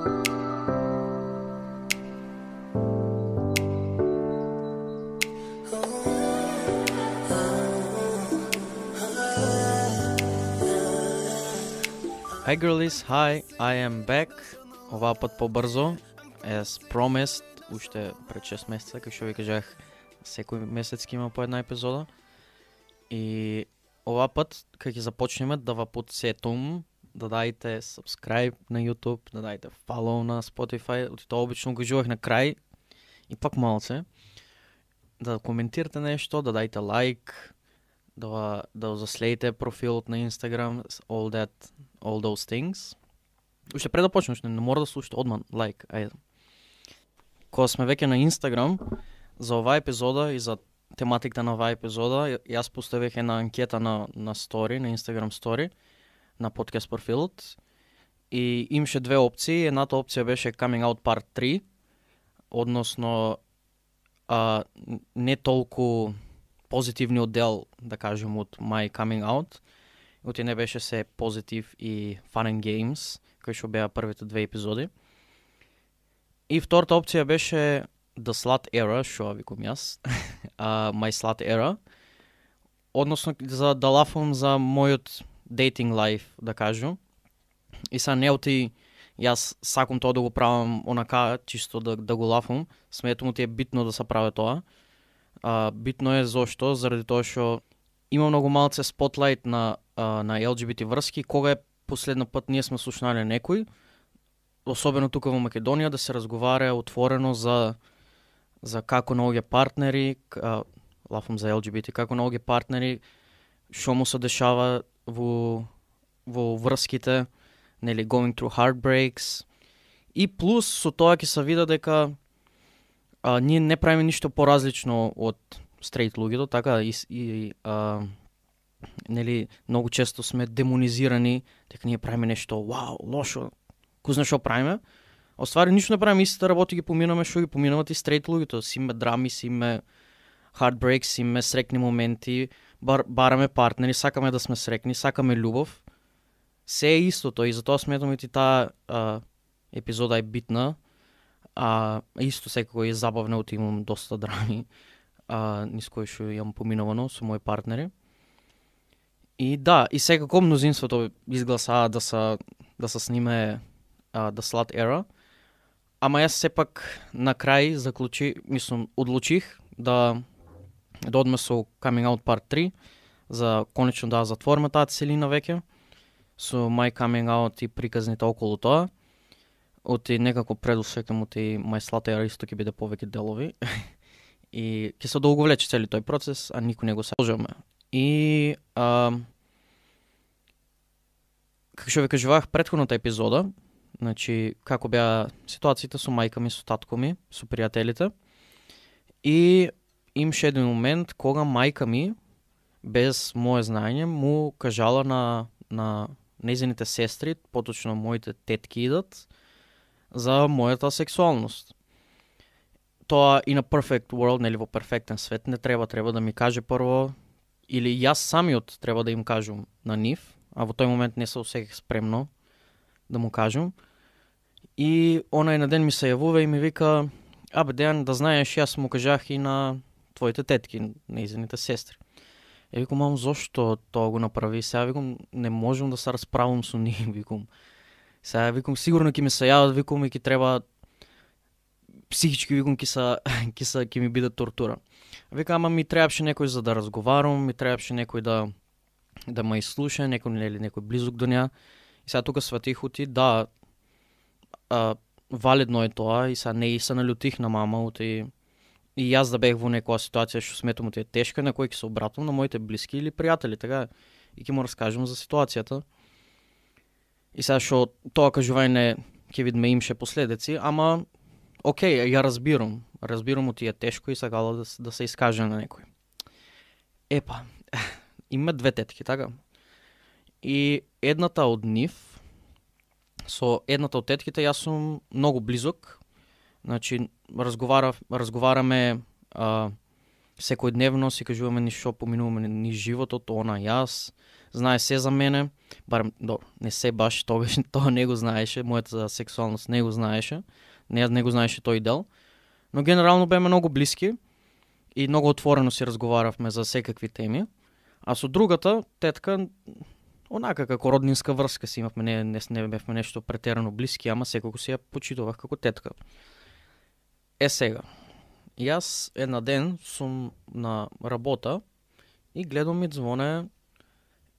Hi girlies, hi, I am back. Оваа пат побрзо, as promised, уште пред 6 месеца, како што ви кажах, секој месец ќе има по една епизода. И оваа пат, кога ќе започнеме, да ва подсетувам да дајте subscribe на YouTube, да дајте follow на Spotify, тоа обично го кажувах на крај, и пак малце, да коментирате нешто, да дајте лайк, да заследите профилот на Instagram, all those things. Уште пред да почнеш, не мора да слушате одман лайк, ајде. Кога сме веќе на Instagram, за оваа епизода и за тематиката на оваа епизода, јас поставих една анкета на story, на Instagram story, на подкаст профилот, и имаше две опции. Едната опција беше Coming Out Part 3, односно не толку позитивниот дел, да кажем, од My Coming Out, оти не беше се позитив и fun and games, кои што беа првите две епизоди. И втората опција беше The Slut Era, што викам јас, My Slut Era, односно за да лафам за мојот dating life, да кажу. И са не оти, јас сакам тоа да го правам онака, чисто да го лафам, сметам оти е битно да се прави тоа. Битно е зошто, заради тоа што има многу малце спотлайт на LGBT врски. Кога е последно пат ние сме слушнали некој, особено тука во Македонија, да се разговара отворено за како наоѓа партнери, лафам за LGBT, како наоѓа партнери, што му се дешава во врските, нели, going through heartbreaks. И плюс со тоа ќе се види дека ние не правиме ништо поразлично од стрейт луѓето, така и нели, многу често сме демонизирани, дека ние правиме нешто вау, лошо, кој знае што правиме. Оствари ништо не правиме, истите работи ги поминаме што ги поминават и стрейт луѓето. Си име драми, си име heartbreaks, си име срекни моменти, бараме партнери, сакаме да сме срекни, сакаме љубов. Се е истото и затоа сметам и таа епизода е битна. Исто секако е забавно, оти имам доста драми, низ кои што имам поминувано со мои партнери. И да, и секако мнозинството изгласаа да се сниме The Slut Era. Ама јас сепак на крај одлучих да одме со Coming Out Part 3, за конечно да затвориме таа целина веќе, со My Coming Out и приказните околу тоа. Оти некако предусекам оти My Slut Era исто ќе биде повеќе делови. И ќе се долго влече цели тој процес, а никој не го сложаме. И како што ви кажував претходната епизода, значи како беа ситуациите со мајка ми, со татко ми, со пријателите. И имаше еден момент кога мајка ми, без мое знаење, му кажала на нејзините сестри, поточно моите тетки идат, за мојата сексуалност. Тоа и на perfect world, нели, во перфектен свет, не треба да ми каже прво, или јас самиот треба да им кажам на нив, а во тој момент не се осеќах спремно да му кажам. И она на ден ми се јавува и ми вика: "Абе, Дејан, да знаеш, јас му кажах и на твоите тетки, нејзините сестри." Е, викам: "Мам, зошто тоа го направи?" Сега викам: "Не можам да се расправам со нив", викам. Сега викам: "Сигурно ќе ми се јават", викам, и ќе треба психички, викам, ќе ми биде тортура. Вика: "Ама ми требаше некој за да разговарам, ми требаше некој да ме изслуша, некој близок до неа." И сега тука сватих оти, да, валидно е тоа, и сега не се налютих на мама оти. И јас да бех во некоја ситуација што сметам оти е тешка, на кој ќе се обратам на моите блиски или пријатели, така, и ќе му раскажам за ситуацијата. И сега што тоа кажување ќе видиме имше последици, ама окей, ја разбирам оти е тешко и сакала да се искаже на некој. Епа, има две тетки, така? И едната од нив, со едната од тетките јас сум многу близок. Значи, разговараме секојдневно, си кажуваме ништо, поминуваме низ животот, она јас. знае се за мене, барем, не се баш, тогаш тоа не го знаеше, мојата сексуалност не го знаеше, не го знаеше тој дел, но генерално беме многу блиски и многу отворено си разговаравме за секакви теми, а со другата тетка, онака како роднинска врска си имавме, не бевме нешто претерано блиски, ама секако си ја почитував како тетка. Сега, јас една ден сум на работа и гледам ми звоне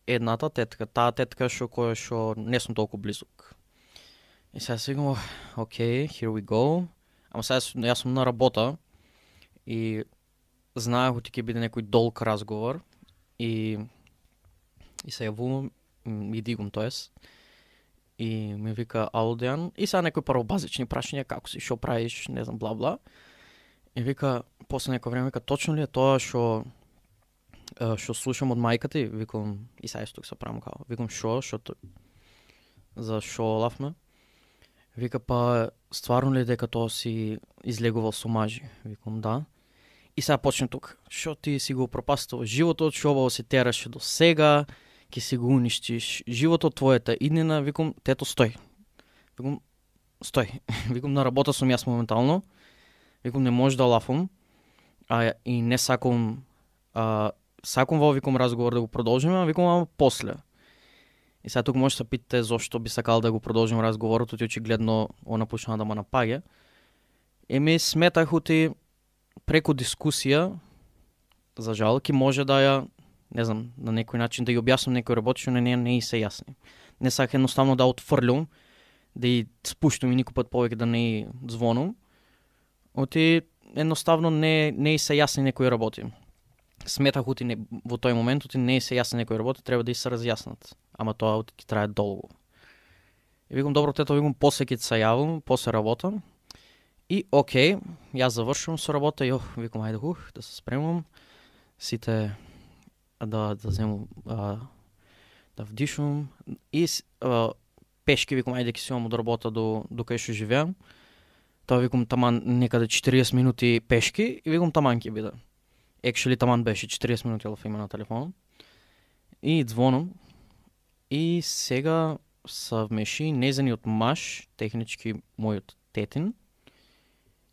едната тетка, таа тетка што не сум толку близок. И сега си викам, окей, here we go. Ама сега јас сум на работа и знаех оти ќе биде некој долг разговор и се јавувам и дигам тоес и ми вика ало Дејан и сега некој прво базични прашања како си, што правиш, не знам, бла-бла. И вика, после некој време вика, точно ли е тоа што слушам од мајка ти? Викам, и сега тук се правам као. Викам, за шо лафме? Вика, па стварно ли дека тоа си излегувал со мажи? Викам, да. И сега почне тук. Шо ти си го пропастувал животот, шо ово се тераше до сега, ќе си го уништиш животот, твојата иднина. Викам, тето, стој. Викам, стој. Викам, на работа сум јас моментално. Викам, не може да лафам. И не сакам во викам разговор да го продолжиме, а викам, ама после. И сега тук може да се питате зошто би сакал да го продолжим разговорот, оти очигледно она почна да ме напаѓа. Еми сметах оти преку дискусија, за жал, ки може да ја, не знам, на некој начин да ја објаснам некој работи што не и се јасни. Не саках едноставно да отфрлям, да ја спуштам и никој пат повеќе да не ја звонам. Оти едноставно не и се јасни некои работи. Сметах оти во тој момент, оти не и се јасни некои работи, треба да и се разјаснат. Ама тоа оти ќе трае долго. И викам, добро, тето, викам, после ќе се јавам, после работа. И окей, јас завршувам со работа и викам, ајде да се спремам, сите да земам, да вдишувам и пешки, викам, ајде ќе си имам од работа до кај што живеам. Тоа викам таман некаде 40 минути пешки и викам таман ќе биде. Actually таман беше 40 минути лаф има на телефон. И звонам и сега съвмеши незаниот маж, технички мојот тетин.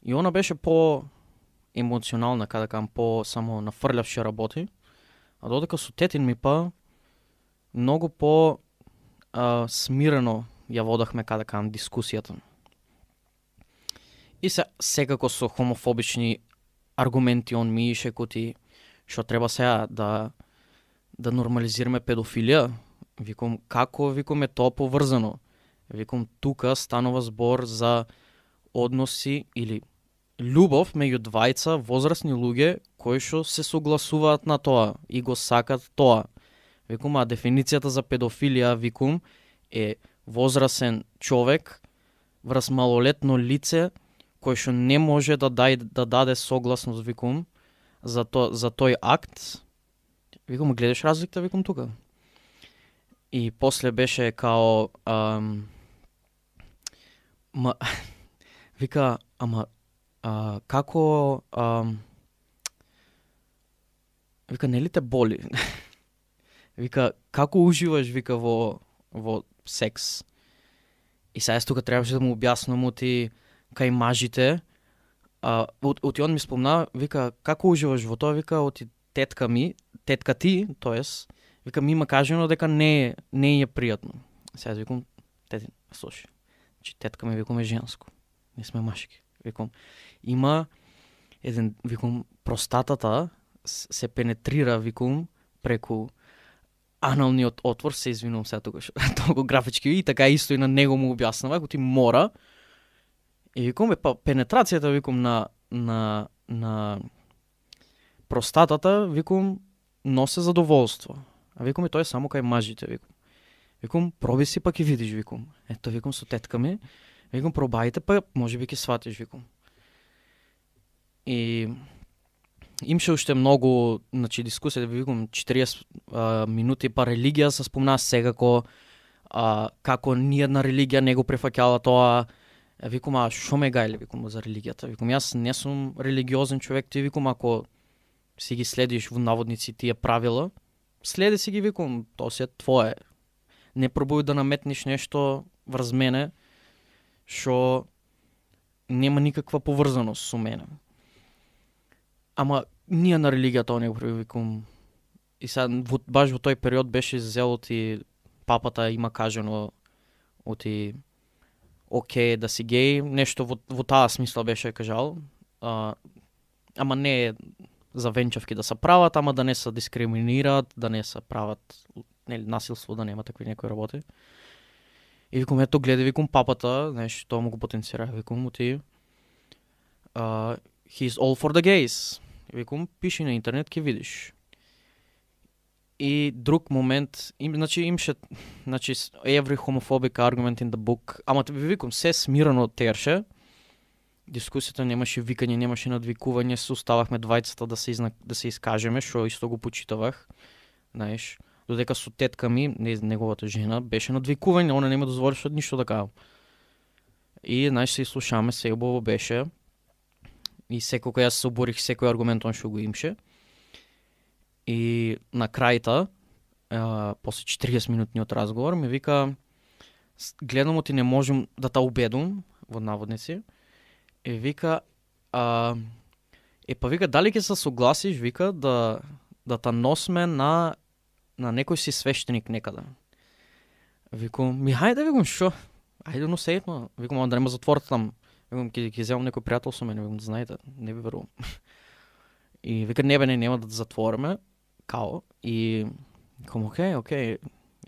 И она беше по-емоционална, каде кам, по-само нафрлявше работи. А додека со тетин ми па многу смирено ја водахме каде кам дискусијата. И секако со хомофобични аргументи он ми ише коти што треба сега да нормализираме педофилија. Викам, како е тоа поврзано? Викам, тука станува збор за односи или љубов меѓу двајца возрастни луѓе кои што се согласуваат на тоа и го сакат тоа. Викам, а дефиницијата за педофилија, викам, е возрасен човек врз малолетно лице кој што не може да даде согласност, викам, за тој акт. Викам, гледаш разликата, викам, тука. И после беше као вика, ама како вика, нели те боли? Вика, како уживаш, вика, во секс? И сега тука требаше да му објаснам оти кај мажите. Оти он ми спомна, вика, како уживаш во тоа? Вика, оти тетка ти, тоест, вика, ми има кажено дека не е пријатно. Сега викам, тетин, слушай, че тетка ми, викам, е женско. Не сме машки. Викам, има еден, викам, простатата се пенетрира, викам, преку аналниот отвор, се извинувам сега тука, толку графички, и така исто и на него му објаснава, ако ти мора. И викам, па пенетрацијата, викам, на простатата, викам, носе задоволство. А викам, и тоа е само кај мажите, викам. Викам, проби си, па ќе видиш, викам. Ето, викам, со тетка ми. Викам, пробајте, па може би ќе сватиш, викам. И имаше уште многу, значи, дискусија, викам, 40 минути, па религија се спомна секако, како ниједна религија не го префаќала тоа. Викам, а шо ме гајле, викам, за религијата? Викам, јас не сум религиозен човек, ти, викам, ако си ги следиш во наводници тие правила, следи си ги, викам, то си е твое. Не пробуј да наметнеш нешто врз мене, што нема никаква поврзаност со мене. Ама ние на религијата не го привикам. И сега, баш во тој период беше зело ти папата има кажано оти окей да си геј, нешто во таа смисла беше кажал. Ама не за венчавки да се прават, ама да не се дискриминираат, да не се прават насилство, да нема такви некои работи. И викам, ето гледа, викам папата, знаеш, тоа му го потенцира, викам оти he's all for the gays. И викам, пиши на интернет, ке видиш. И друг момент, имаше every homophobic argument in the book, ама ви викам, се смирано терше, дискусията немаше викање, немаше надвикување, се оставахме двајцата да се искажеме, што исто го почитавах, знаеш, додека со тетка ми, неговата жена, беше надвикување, она нема дозволеше ништо да кажам. И, знаеш, се слушаме, се убаво беше, и секој јас се оборих секој аргумент он што го имше. И на крајта, после 40 минутниот разговор, ми вика, гледам ти не можем да та убедам, во наводници, и вика, па вика, дали ќе се согласиш, вика, да та носме на некој си свештеник некаде. Викам, хајде, викам, шо? Ајде, но сејтно. Викам, да нема затворите там. Викам, ќе земам некој пријател со мене, викам, да знаете, не ви верувам. И вика, нема да затвориме, као, и викам, окей,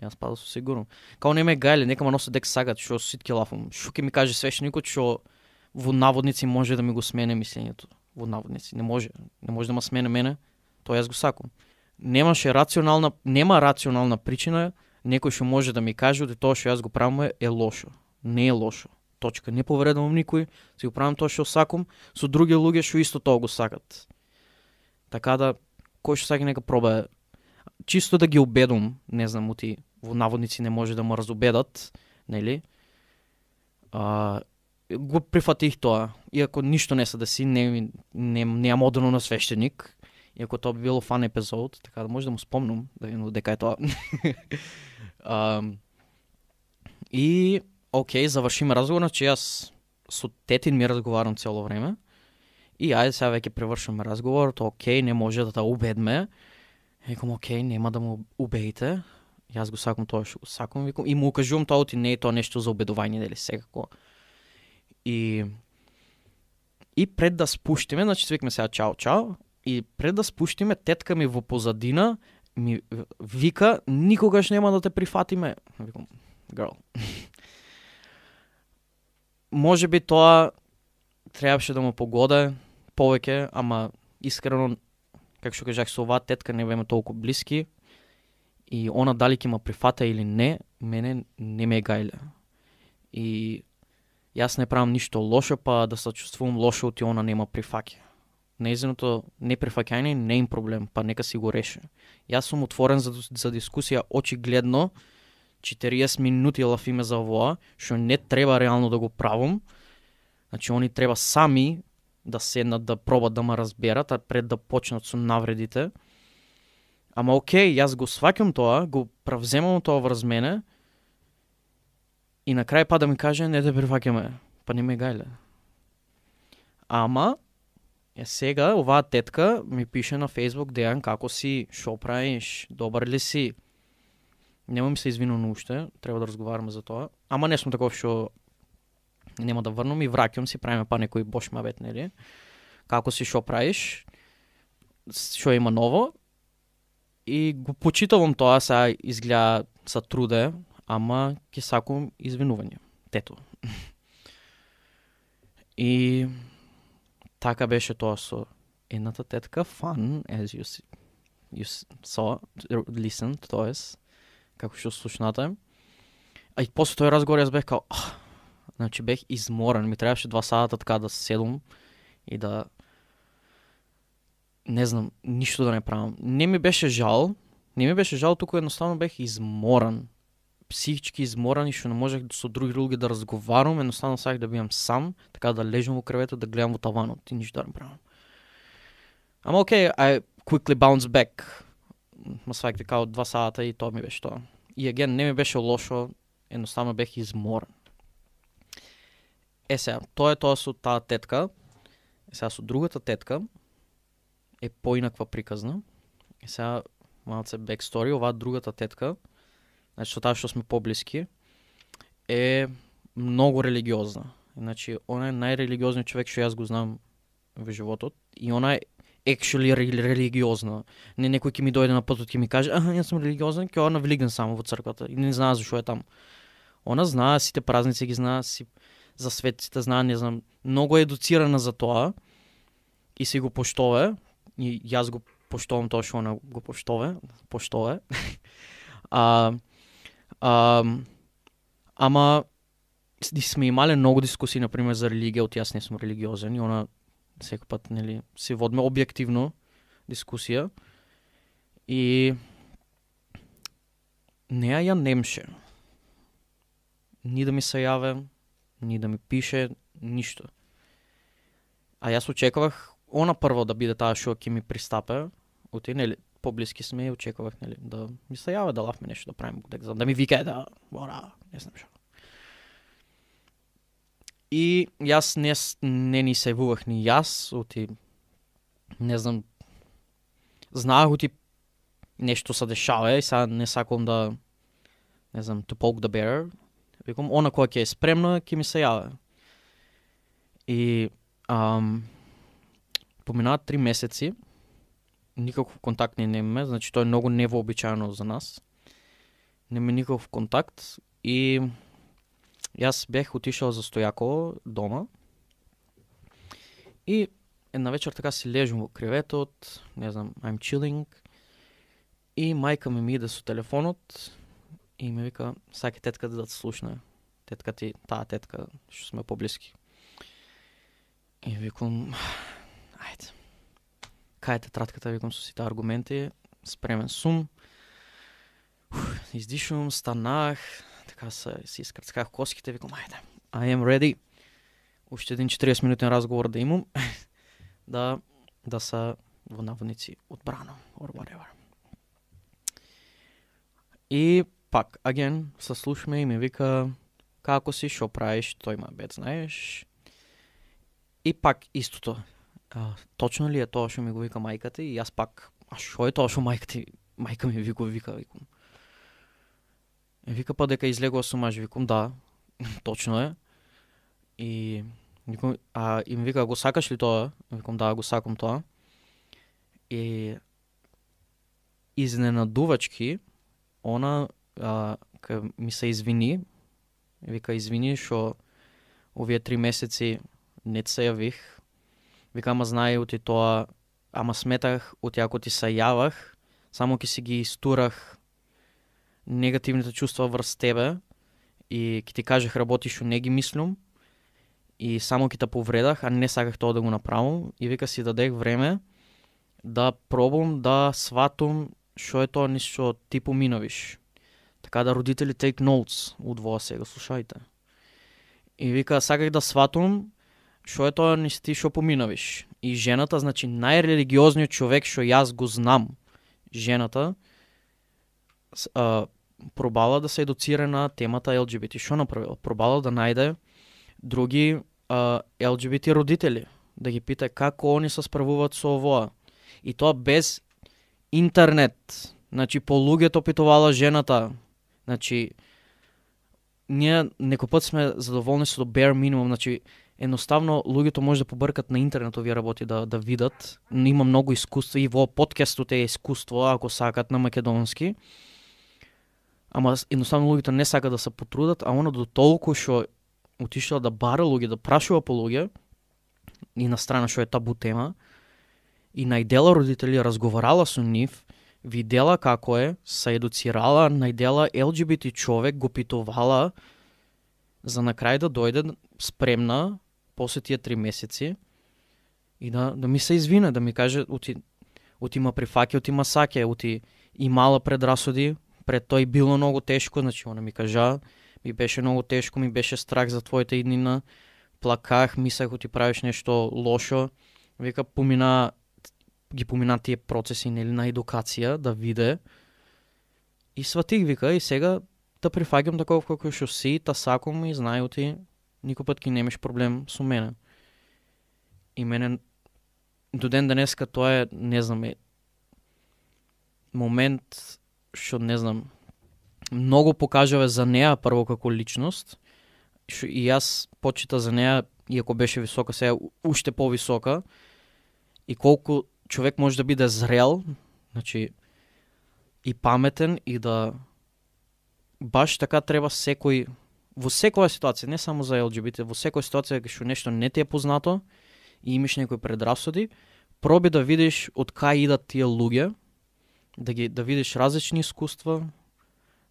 јас падал со сигурно. Као не ме гајле, нека ма носе дек сагат, шо ситки лафам. Шо ќе ми каже свештеникот, шо во наводници може да ми го смене мислењето. Во наводници, не може да ма смене мене, тоа јас го сакам. Нема рационална причина, некој што може да ми каже дека тоа што јас го правам е лошо. Не е лошо. Точка. Не повредувам никој, си го правам тоа што сакам, со други луѓе што исто тоа го сакат. Така да, кој што сака нека проба, чисто да ги убедам, не знам, во наводници не може да ме разубедат, нели? Го прифатих тоа, иако ништо не се деси, не модерно на свештеник, иако тоа би било фан епизод, така да може да му спомнам, да видам дека е тоа. И, окей, завршиме разговор, че јас со тетин ми разговарам цело време, и ајде сега веќе превршиме разговор, то окей, не може да та убедме, викам, окей, нема да му убедите, јас го сакам тоа што го сакам, викам, и му укажувам тоа, не е тоа нешто за убедување, дали секако. И пред да спуштиме, значи свикме сега чао, и пред да спуштиме, тетка ми во позадина ми вика, никогаш нема да те прифатиме. Викам, girl. Може би тоа требаше да му погоде повеќе, ама искрено, како што кажах, со оваа тетка не беме толку блиски, и она дали ќе ме прифата или не, мене не ме гајле. И јас не правам ништо лошо, па да се чувствувам лошо оти она нема прифаќа. Нејзиното неприфаќање не е им проблем, па нека си го реше. Јас сум отворен за дискусија, очигледно 40 минути лафиме за овоа, што не треба реално да го правам. Значи, они треба сами да седнат, да пробат да ме разберат, а пред да почнат со навредите. Ама окей, јас го сваќам тоа, го правземам тоа врз мене, и на крај па да ми каже, не те прифаќаме, па не ме гајле. Ама, сега оваа тетка ми пише на Facebook, Дејан, како си, шо правиш, добар ли си? Нема ми се извинувам уште, треба да разговараме за тоа. Ама не сум таков што нема да врнам и враќам си, правиме па некој бош мавет, нели? Како си, шо правиш? Шо има ново? И го почитувам тоа, сега изгледа са труде, ама ќе сакам извинување. Тето. И така беше тоа со едната тетка, fun, as you saw, listened, тоест, како што слушнате. А и после тој разговор јас бех као, значи бех изморен, ми требаше 2 сата така да седум и да, не знам, ништо да не правам. Не ми беше жал, туку едноставно бех изморен. Психички изморен и што не можех со други луѓе да разговарам, едноставно саках да бидам сам, така да лежам во кревето, да гледам во таванот и ништо да не правам. Ама окей, I quickly bounce back. ма сваќате као 2 сата и тоа ми беше тоа. И аген, не ми беше лошо, едноставно бех изморен. Сега, тоа со таа тетка. Сега со другата тетка е поинаква приказна. Сега, малце backstory, оваа другата тетка, значи со таа што сме поблиски, е многу религиозна. Значи, она е најрелигиозниот човек што јас го знам во животот и она е actually религиозна. Не некој ќе ми дојде на патот ќе ми каже, јас сум религиозен, ќе она влигнам само во црквата и не знае зашо е таму. Она знае сите празници ги знае, за светците знае, не знам, многу е едуцирана за тоа и си го поштове и јас го поштовам тоа што она го поштове. Ама сме имале многу дискусии, например, за религија, јас не сум религиозен и она секој пат, нели, си водиме објективно дискусија и неа ја немше. Ни да ми се јаве, ни да ми пише, ништо. А јас очекувах она прво да биде таа што ќе ми пристапе, нели, поблиски сме и очекувах, нели, да ми се јаве, да лавме нешто да правиме, да ми викае да мора, не знам што. И јас не ни се јавувах ни јас, не знам, знаах нешто се дешава и сега не сакам да, не знам, to poke the bear. Викам, она која ќе е спремна, ќе ми се јаве. И поминаат 3 месеци, никаков контакт не имаме, значи тоа е многу невообичаено за нас. Нема никаков контакт и јас бех отишел за Стојаково дома и една вечер така си лежам во креветот, не знам, I'm chilling и мајка ми иде со телефонот и ми вика, саке тетка да те слушне. Тетка ти, таа тетка, што сме поблиски. И викам, ајде. Кај те тратката, викам со сите аргументи, спремен сум. Издишувам, станах, така си искрцках коските, викам, ајде, I am ready. Уште един 40 минутен разговор да имам, да са во наводници одбрано, or whatever. И пак, аген, се слушаме и ми вика, како си, шо правиш, тој ма бед, знаеш. И пак истото. Точно ли е тоа што ми го вика мајката и јас пак, шо е тоа што мајка ми викам. Вика па дека излегува со маж, викам да, точно е. И ми вика, го сакаш ли тоа? Викам да, го сакам тоа. И изненадувачки, она ми се извини, вика извини што овие 3 месеци не се јавих. Вика, ама знае оти тоа, ама сметах оти ако ти се јавах, само ќе си ги истурах негативните чувства врз тебе и ќе ти кажах работи што не ги мислам и само ќе те повредах, а не саках тоа да го направам и вика си дадех време да пробам да сватам што е тоа ништо ти поминавиш. Така да родители take notes од во сега, слушајте. И вика саках да сватам што е тоа ти што поминавиш. И жената, значи најрелигиозниот човек што јас го знам, жената пробала да се едуцира на темата LGBT. Што направила? Пробала да најде други LGBT родители, да ги пита како они се справуваат со овоа. И тоа без интернет. Значи по луѓето питувала жената. Значи ние некој пат сме задоволни со bare minimum, значи едноставно луѓето може да побркат на интернет овие работи да видат. Има многу искуство и во подкастот е искуство ако сакат на македонски. Ама едноставно луѓето не сакат да се потрудат, а она до толку што отишла да бара луѓе, да прашува по луѓе и на страна што е табу тема и најдела родители разговарала со нив, видела како е, се едуцирала, најдела LGBT човек, го питувала за на крај да дојде спремна после тие 3 месеци и да ми се извине, да ми каже оти ма прифаќа, оти ма саќе, оти имала предрасуди, пред тој било многу тешко, значи она ми кажа, ми беше многу тешко, ми беше страх за твојата иднина, плаках, мислех оти правиш нешто лошо, вика помина ги помина тие процеси нели на едукација, да виде. И сватих вика и сега да прифаќам таков како што си, та сакам и знај ти никој пат ќе немаш проблем со мене. И мене до ден денеска тоа е, не знам, момент што не знам, многу покажува за неа прво како личност. И јас почита за неа, иако беше висока, сега уште повисока. И колку човек може да биде зрел, значи и паметен и да баш така треба секој во секоја ситуација, не само за LGBT, во секоја ситуација кај што нешто не ти е познато и имаш некои предрасуди, проби да видиш од кај идат тие луѓе, да видиш различни искуства,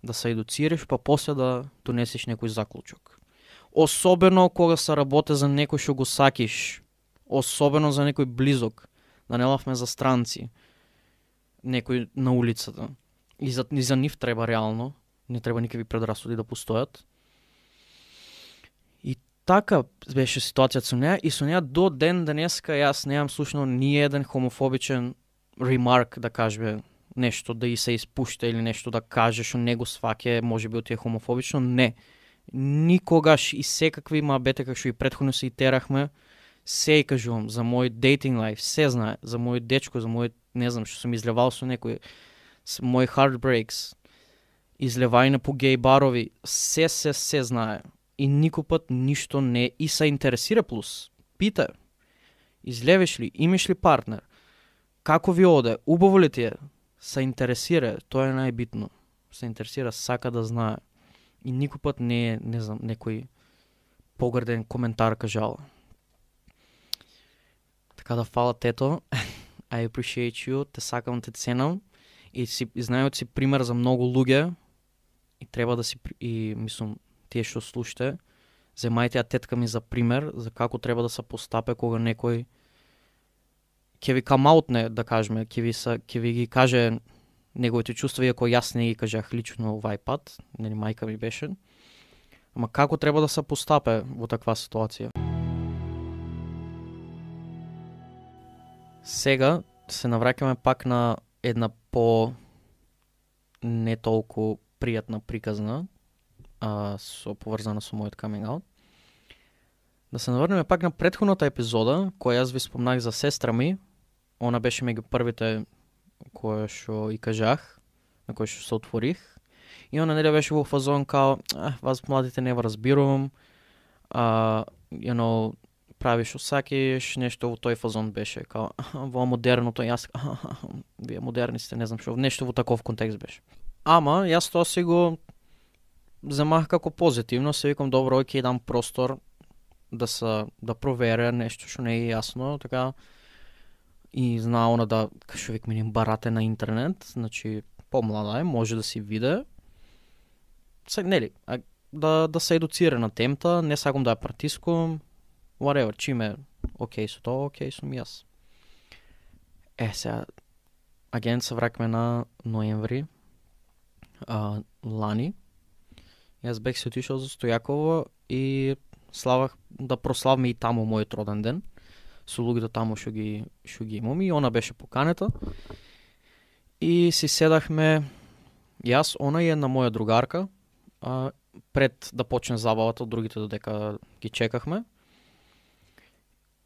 да се едуцираш, па после да донесеш некој заклучок. Особено кога се работи за некој што го сакиш, особено за некој близок, да не лавме за странци, некој на улицата. И за нив треба реално, не треба никакви предрасуди да постојат. И така беше ситуацијата со неа, и со неа до ден денеска јас немам слушнал ни еден хомофобичен ремарк, да кажеме нешто да и се испушта или нешто да каже што не го сваќа, можеби од тие хомофобично, не. Никогаш и секакви мабете како што и претходно се итерахме, се кажувам за мој дейтинг лайф, се знае, за мој дечко, за мој, не знам, што сум излевал со некој, мој heartbreaks, излевање по гей барови, се знае. И никој пат ништо не и се интересира плюс. Пита, излевеш ли, имаш ли партнер, како ви оде, убаво ли ти е, се интересира, тоа е најбитно. Се интересира, сака да знае. И никој пат не е, не знам, некој погрден коментар кажал. Така да фала тето, I appreciate you, те сакам, те ценам и знајот си пример за многу луѓе и треба да си, и мислам, тие што слушате, земајте ја тетка ми за пример, за како треба да се постапе кога некој ќе ви камаутне, да кажеме, ќе ви ги каже неговите чувства, иако јас не ги кажах лично овај пат, нели мајка ми беше. Ама како треба да се постапе во таква ситуација? Сега се навраќаме пак на една по не толку пријатна приказна, поврзана со мојот coming out. Да се наврнеме пак на претходната епизода, која јас ви спомнах за сестра ми. Она беше меѓу првите која што и кажах, на кој што се отворих. И она нели беше во фазон као, вас младите не разбирувам, правиш што сакиш, нешто во тој фазон беше, као, во модерното, јас, вие модерни сте, не знам што, нешто во таков контекст беше. Ама, јас тоа си го земах како позитивно, се викам, добро, ќе дам простор да проверя нешто што не е јасно, така, и знаа она да, кашо вик миним, барате на интернет, значи, помлада е, може да си виде, нели, да се едуцира на темата, не сакам да ја притискувам, whatever, чиме окей со тоа, окей сум јас. Сега, агент се вракме на ноември, лани. Јас бех се отишол за Стојаково и славах да прославме и таму мојот роден ден, со луѓето таму што ги имам, и она беше поканета. И си седахме, јас, она и една моја другарка, пред да почне забавата, од другите додека ги чекахме.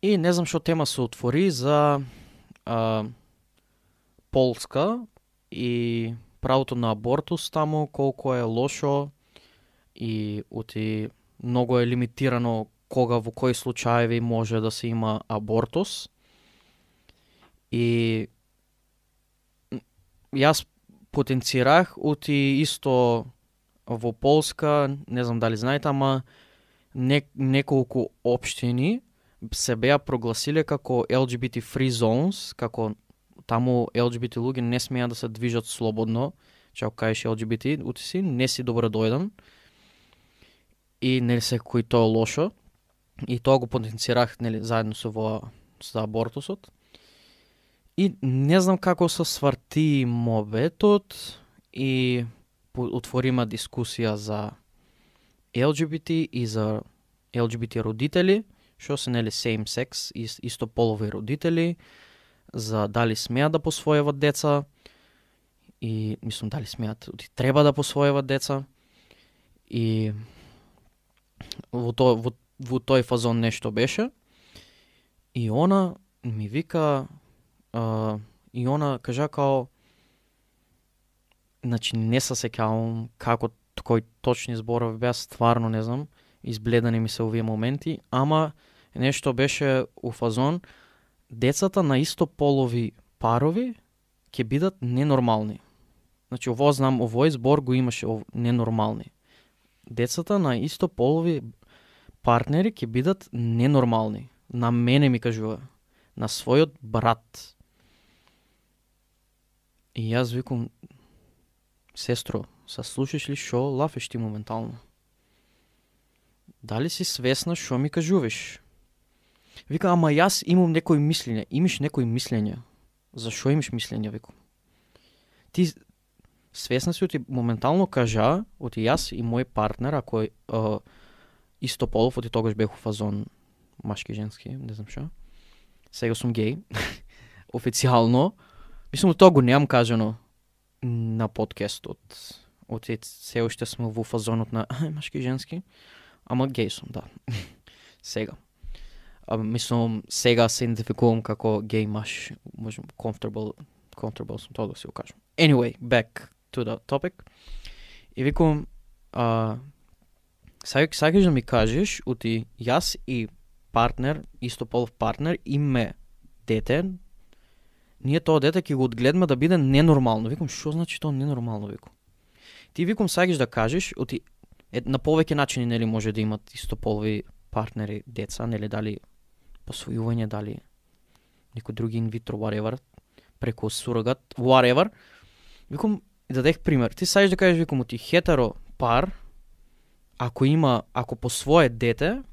И не знам што тема се отвори за Полска и правото на абортус таму, колку е лошо и оти многу е лимитирано кога во кои случаеви може да се има абортус. И јас потенцирах оти исто во Полска, не знам дали знаете, ама неколку општини се беа прогласиле како LGBT free zones, како таму LGBT луѓе не смеа да се движат слободно, че ако кажеш LGBT, ути си, не си добро дојден. И нели се кој тоа лошо. И тоа го потенцирах, нели, заедно со за абортусот. И не знам како се сврти мобетот и отворима дискусија за LGBT и за LGBT родители, што се нели same sex, истополови родители, за дали смеат да посвојуват деца и мислам дали смеат, треба да посвојуват деца и во тој фазон нешто беше и она ми вика и она кажа као значи не се сеќавам како кој точни зборови беа, стварно не знам, избледани ми се овие моменти, ама нешто беше у фазон децата на истополови парови ќе бидат ненормални. Значи ово знам, овој збор го имаше ненормални. Децата на истополови партнери ќе бидат ненормални. На мене ми кажува, на својот брат. И јас викам, сестро, са слушаш ли шо лафеш ти моментално? Дали си свесна шо ми кажуваш? Вика, ама јас имам некои мислења. Имаш некои мислења. Зашо имаш мислења, викам? Ти свесна си, оти моментално кажа, оти јас и мој партнер, ако истополов, оти тогаш бех у фазон машки, женски, не знам шо. Сега сум гей. Официјално. Мислам, тоа го немам кажано на подкастот. Оти се уште сме во фазонот на машки и женски. Ама гей сум, да. Сега. Мислам, сега се идентификувам како гей маж. Можем, comfortable сум, тоа да си го кажам. Anyway, back to the topic. И викам, сакаш да ми кажеш, оти јас и партнер, истополов партнер, име дете, ние тоа дете ќе го одгледаме да биде ненормално. Викам, што значи тоа ненормално, викам? Ти викам сакаш да кажеш, оти на повеќе начини нели може да имат истополови партнери деца, нели дали посвојување, дали некој други инвитро, whatever, преку сурогат, whatever. Викам, дадех пример. Ти сакаш да кажеш, викам, оти хетеро пар, ако посвое дете,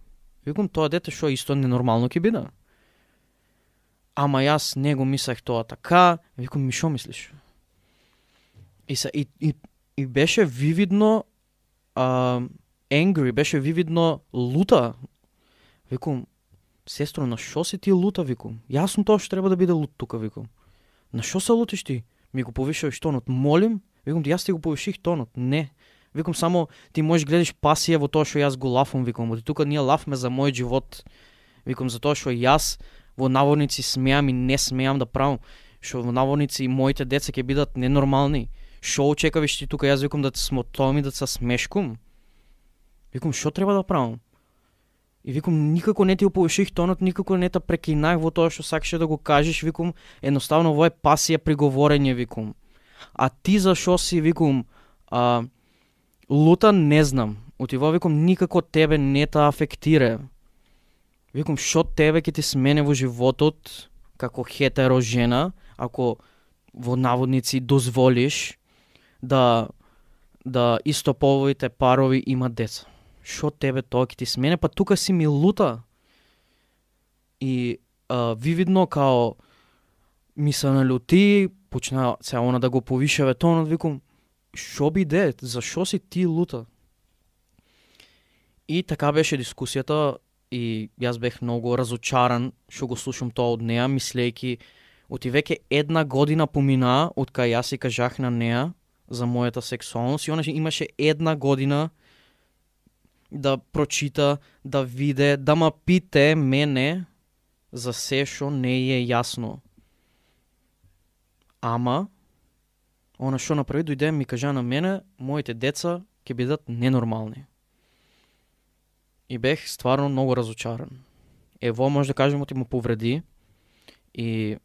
викам, тоа дете што исто ненормално ќе биде. Ама јас не го мислех тоа така, викам, ми шо мислиш? И беше вивидно angry, беше вивидно лута. Викам, сестро, на шо си ти лута, викам? Јас сум тоа што треба да биде лут тука, викам. На шо се лутиш ти? Ми го повишаваш тонот. Молим, викам, јас ти го повиших тонот. Не. Викам, само ти можеш гледаш пасија во тоа што јас го лафам, викам. Оти тука ние лафме за мојот живот. Викам, за тоа што јас во наводници смеам и не смеам да правам. Што во наводници и моите деца ќе бидат ненормални. Шо очекаваш ти тука? Јас викам да те смотом и да се смешкам. Викам, шо треба да правам? И викам, никако не ти го повиших тонот, никако не те прекинах во тоа што сакаше да го кажеш, викам, едноставно во е пасија при говорење, викам. А ти зашо си, викам, лута, не знам. Отиво, викам, никако тебе не те афектира. Викам, шо тебе ќе ти смене во животот, како хетеро жена, ако во наводници дозволиш да истополовите парови имат деца. Шо тебе тоа ќе ти смене, па тука си ми лута. И вивидно као ми се налюти, почна се она да го повишаве тонот, викам, шо биде, зашо си ти лута? И така беше дискусијата и јас бех многу разочаран што го слушам тоа од неа, мислејќи оти веќе 1 година помина од кај јас и кажах на неа за мојата сексуалност и она имаше 1 година да прочита, да виде, да ма пите мене за се што не е јасно. Ама, она што направи, дојде ми кажа на мене, моите деца ќе бидат ненормални. И бех стварно многу разочаран. Ево може да кажем, оти му повреди и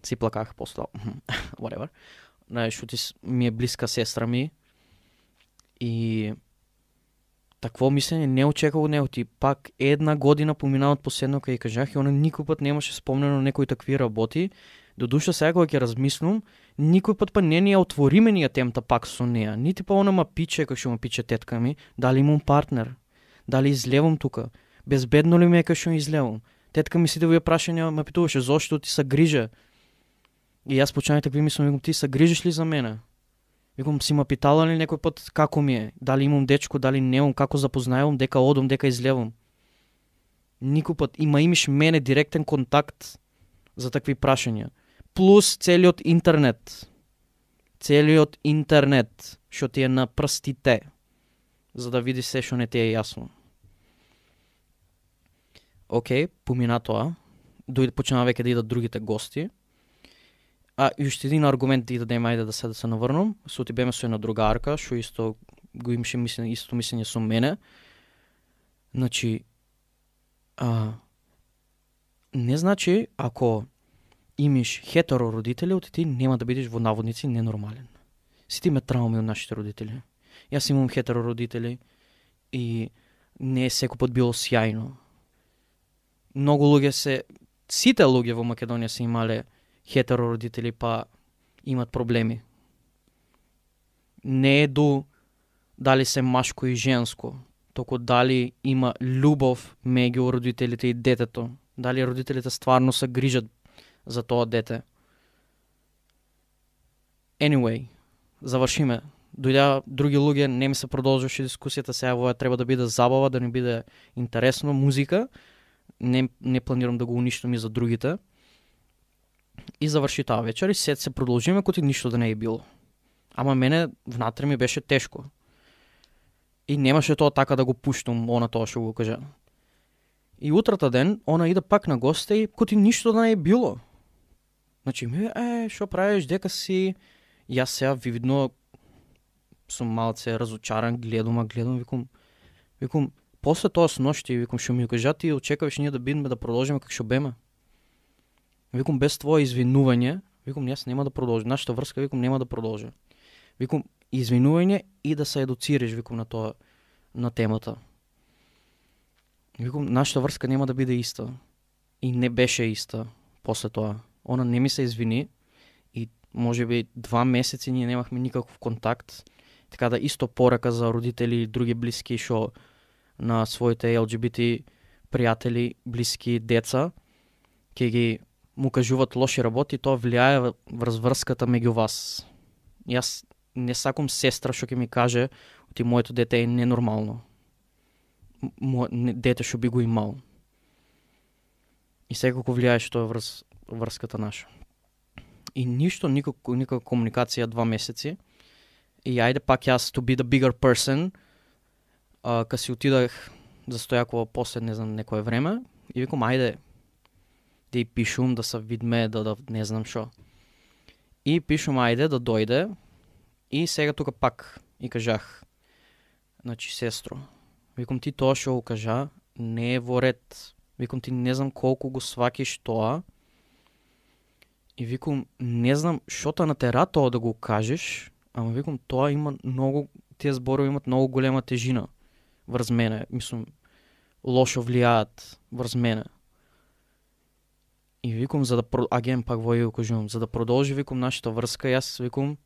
си плаках после whatever. Знаеш, оти ми е блиска сестра ми и такво мислење не очекував него. Ти пак 1 година помина од последно кај кажах и она никој пат немаше спомнено некои такви работи. До душа сега кога ќе размислам, никој пат па не ни ја отвориме ние темата пак со неа. Нити па она ма пиче, како што ма пиче тетка ми, дали имам партнер, дали излевам тука, безбедно ли ми е кај што излевам. Тетка ми сите во прашања ме питуваше зошто ти се грижа. И јас почнав такви мислам, викам, ти се грижиш ли за мене? Викам, си ма питала ли некој пат како ми е, дали имам дечко, дали немам, како запознаевам, дека одам, дека излевам. Никој пат имаш мене директен контакт. за такви прашања. Плюс целиот интернет, што ти е на прстите, за да видиш се што не ти е јасно. Океј, помина тоа, почнаа веќе да идат другите гости. И уште един аргумент да дадем, ајде да се наврнам, со ти беме со една другарка, што исто го имаше исто мислење со мене. Значи, не значи ако имаш хетеро родители, ти нема да бидеш во наводници ненормален. Сите имаме трауми од нашите родители. Јас имам хетеро родители и не е секој пат било сјајно. Многу луѓе сите луѓе во Македонија се имале хетеро родители па имат проблеми. Не е дали се машко и женско, току дали има љубов меѓу родителите и детето. Дали родителите стварно се грижат за тоа дете. Anyway, завршиме. Дојдеа други луѓе, не ми се продолжуваше дискусијата, сега ова треба да биде забава, да не биде интересно, музика. Не планирам да го уништам и за другите. И заврши таа вечер и се продолжиме коти ништо да не е било. Ама мене внатре ми беше тешко. И немаше тоа така да го пуштам, она тоа што го кажа. И утрата ден, она иде пак на госте и коти ништо да не е било. Значи, што правиш, дека си... Јас сега видно сум малце разочаран, гледам, викам, после тоа с ношти, викам, што ми кажа, ти очекуваш ние да бидеме да продолжиме како што беме. Викам, без твое извинување, викам, јас нема да продолжам. Нашата врска, викам, нема да продолжи. Викам, извинување и да се едуцираш, викам, на тоа, на темата. Викам, нашата врска нема да биде иста. И не беше иста после тоа. Она не ми се извини и може би 2 месеци ние немахме никаков контакт. Така да исто порака за родители и други блиски што на своите LGBT пријатели, блиски, деца, ќе ги му кажуваат лоши работи, тоа влијае врз врската меѓу вас. Јас не сакам сестра што ќе ми каже ти моето дете е ненормално. Дете што би го имал. И секако влијаеше тоа врз врската наша. И ништо, никаква комуникација 2 месеци. И ајде пак јас to be the bigger person, кога си отидах за Стојакова после не знам некое време и викам ајде да и пишум, да се видме, да не знам шо. И пишум ајде да дојде и сега тука пак и кажах, значи сестро, викам ти тоа што го кажа не е во ред. Викам ти не знам колку го свакиш тоа. И викам не знам што те натера тоа да го кажеш, ама викам тоа има многу, тие зборови имат многу голема тежина врз мене. Мислам, лошо влијаат врз мене. И викам, аген пак во го кажувам, за да продолжи, викам, нашата врска, јас викам,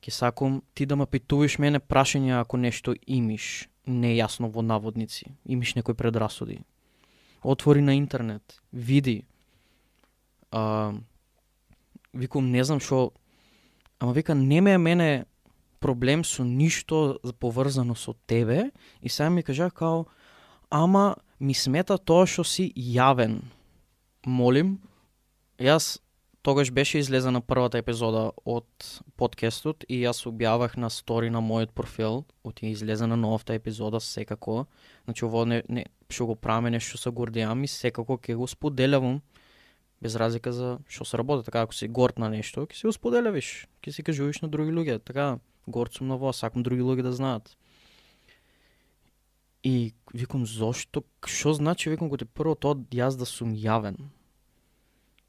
ќе сакам ти да ме питуваш мене прашања ако нешто имиш нејасно во наводници, имиш некои предрасуди. Отвори на интернет, види. Викам, не знам шо, ама вика, нема е мене проблем со ништо поврзано со тебе и сега ми кажа као, ама ми смета тоа што си јавен. Молим, јас тогаш беше излезена првата епизода од подкастот и јас објавах на стори на мојот профил, оти излезена новата епизода секако. Значи ово не што го правиме нешто се гордеам и секако ќе го споделявам без разлика за што се работи. Така ако си горд на нешто, ќе си го споделявиш, ќе си кажуваш на други луѓе. Така горд сум на вас, сакам други луѓе да знаат. И викам, зошто? Што значи, викам, кој прво тоа јас да сум јавен?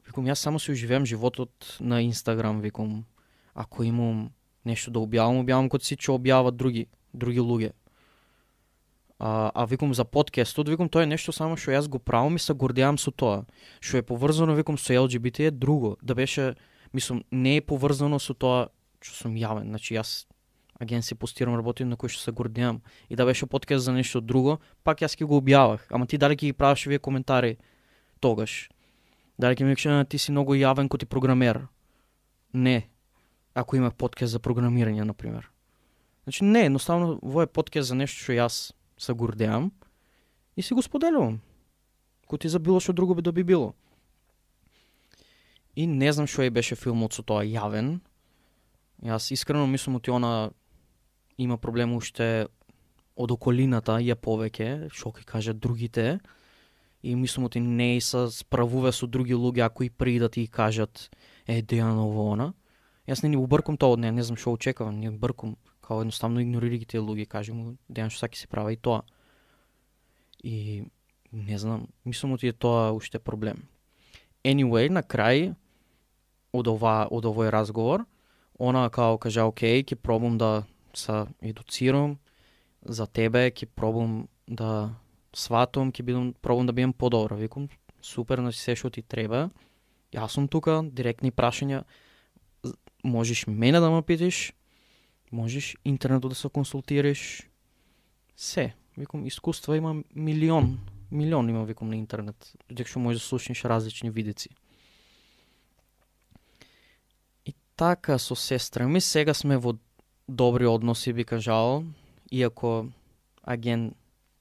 Викам, јас само си оживеам животот на Инстаграм, викам. Ако имам нешто да објавам кога си ќе објават други луѓе. Викам за подкастот, викам, тоа е нешто само што јас го правам и се гордеам со тоа. Што е поврзано, викам, со LGBT е друго. Да беше, мислам, не е поврзано со тоа што сум јавен. Значи јас агенција постирам, работим на кој што се гордеам. И да беше подкаст за нешто друго, пак јас ќе го објавах. Ама ти дали ќе ги правиш вие коментари тогаш? Дали ќе ми кажеш, ти си многу јавен кој ти програмер? Не. Ако имах подкаст за програмирање, например. Значи не, едноставно во е подкаст за нешто што јас се гордеам и си го споделувам. Кој ти за било што друго би да би било. И не знам што беше филмот со тоа јавен. Јас искрено мислам оти она има проблем уште од околината ја повеќе, што ќе кажат другите. И мислам оти не се справува со други луѓе ако и при да ти кажат Дејан ово она. Јас не убркам тоа од неа, не знам што очекувам, не убркам, као едноставно игнорирај ги тие луѓе, кажи му Дејан што саки се прави и тоа. И не знам, мислам оти е тоа уште проблем. Anyway, на крај од овој разговор, она као кажа, окей, ќе пробам да се едуцирам за тебе, ќе пробам да сватам, пробам да бидам подобра. Викам, супер, значи се што ти треба. Јас сум тука, директни прашања. Можеш мене да ме питаш, можеш интернетот да се консултираш. Се. Викам, искуства има милион има, викам, на интернет. Дека што можеш да слушнеш различни видици. И така со сестра ми, сега сме во добри односи, би кажал, иако аген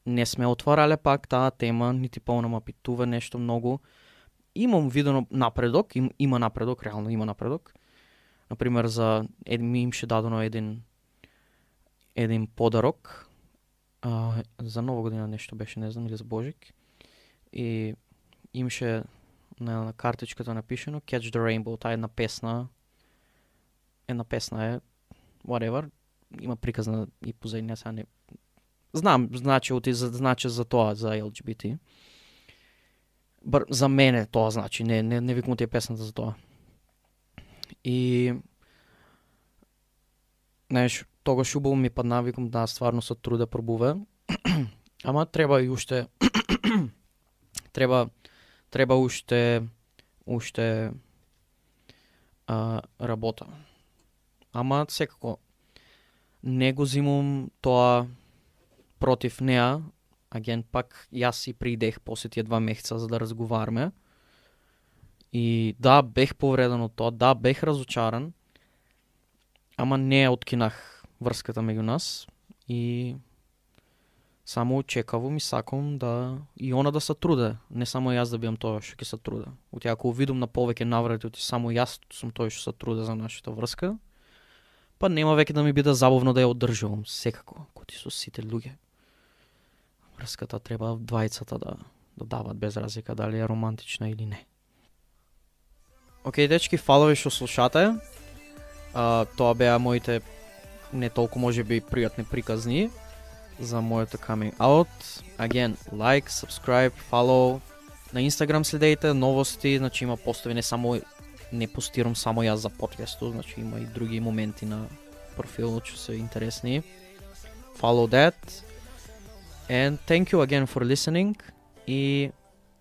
не сме отварале пак таа тема, нити ма питува нешто многу. Имам видено напредок, има напредок, реално има напредок. Например, ми имше дадено еден подарок, за Нова година нешто беше, не знам, или за Божик. И имше на картичката напишено Catch the Rainbow, таа една песна е, whatever, има приказна и позади, сега не знам, значи за тоа, за LGBT. За мене тоа значи, не викам тие песната за тоа. И знаеш, тогаш убаво ми падна, викам да стварно се труда пробува. Ама треба и уште треба уште работа. Ама секако не го зимам тоа против неа. Аген пак јас си придех после тие 2 месеца за да разговараме. И да, бех повреден од тоа, да, бех разочаран, ама не откинах врската меѓу нас и само очекувам и сакам да и она да се труде, не само јас да бидам тоа што ќе се труде. Оти ако видам на повеќе наврати, оти само јас сум тој што се труде за нашата врска, па нема веќе да ми биде забавно да ја одржувам, секако, коти со сите луѓе. Врската треба двајцата да дават без разлика дали е романтична или не. Океј, дечки, фала ви што слушате. Тоа беа моите не толку можеби пријатни приказни за моето coming out. Again, like, subscribe, follow. На Instagram следејте новости, значи има постови, не постирам само јас за подкастот, значи има и други моменти на профилот што се интересни. Follow that. And thank you again for listening. И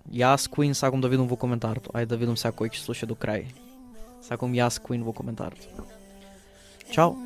јас Queen сакам да видам во коментарот. Ајде да видам сега кој ќе слуша до крај. Сакам јас Queen во коментарот. Чао.